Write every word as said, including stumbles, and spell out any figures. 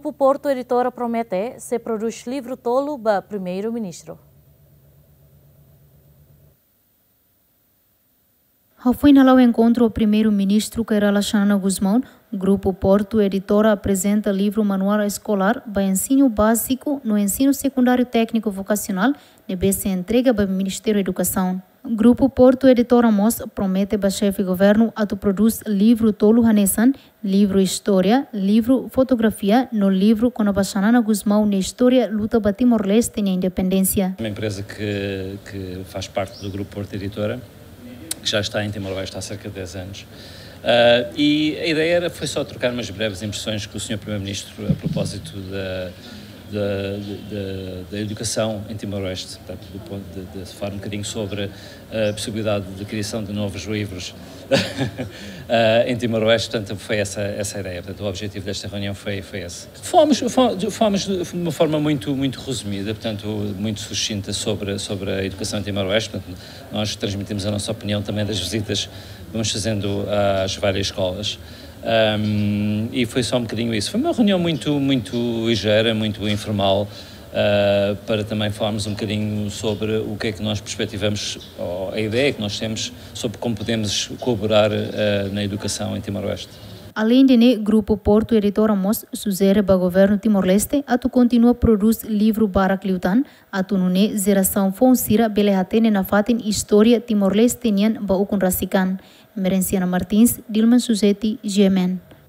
Grupu Portu Editora promete sei prodús livru tolu ba Primeiru-Ministru. Hafoin hala'o enkontru ho Primeiru-Ministru Kay Rala Xanana Gusmão, Grupu Portu Editora aprezenta livru manuál eskolár ba ensinu báziku no ensinu sekundáriu tékniku vokasionál, ne'ebé sei entrega ba Ministériu Edukasaun. Grupu Portu Editora mós promete ba Xefe Governu atu prodús livru tolu hanesan livru istória, livru fotografia no livru kona-ba Xanana Gusmão nia istória luta ba Timor-Leste nia independénsia. Uma empresa que, que faz parte do Grupo Porto Editora, que já está em Timor-Leste há cerca de dez anos. Ah, e a ideia era, foi só trocar umas breves impressões com o senhor Primeiro-Ministro a propósito da, da, da, da educação em Timor-Leste, portanto, do ponto de, de falar um bocadinho sobre a possibilidade de criação de novos livros ah, em Timor-Leste, portanto, foi essa, essa a ideia. Portanto, o objetivo desta reunião foi, foi esse. Falámos, fal-, de- falámos de de uma forma muito, muito resumida, portanto, muito sucinta sobre, sobre a educação em Timor-Leste. Portanto, nós transmitimos a nossa opinião também das visitas que vamos fazendo às várias escolas. Ahm, e foi só um bocadinho isso. Foi uma reunião muito, muito ligeira, muito informal, ah, para também falarmos um bocadinho sobre o que é que nós perspectivamos, ou a ideia que nós temos sobre como podemos colaborar, ah, na educação em Timor-Leste. Aleinde ne'e, Grupu Portu Editora mós sujere ba Governu Timor-Leste atu kontinua prodús livru barak liután, atu nune'e jerasaun foun sira bele hatene nafatin istória Timor-Leste nian ba ukun rasik an. Merenciana Martins, Dilman Suzeti, G M N.